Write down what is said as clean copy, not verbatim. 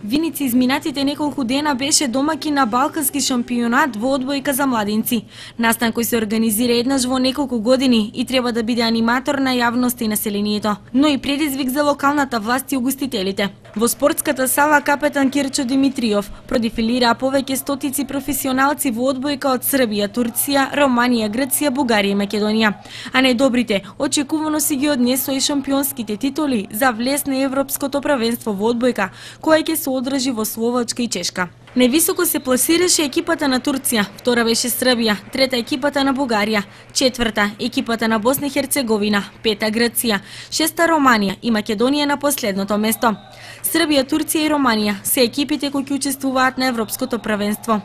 Виница изминатите неколку дена беше домаќин на Балкански шампионат во одбојка за младинци. Настан кој се организира еднаш во неколку години и треба да биде аниматор на јавноста и населението, но и предизвик за локалната власт и угостителите. Во спортската сала капетан Кирчо Димитриов продефилираа повеќе стотици професионалци во одбојка од Србија, Турција, Романија, Грција, Бугарија и Македонија. А најдобрите очекувано си ги однесоа и шампионските титули за влез на Европското првенство во одбојка, кој ќе се одржи во Словачка и Чешка. Највисоко се пласираше екипата на Турција, втора беше Србија, трета екипата на Бугарија, четврта екипата на Босна и Херцеговина, пета Грција, шеста Романија и Македонија на последното место. Србија, Турција и Романија се екипите кои ќе учествуваат на Европското првенство.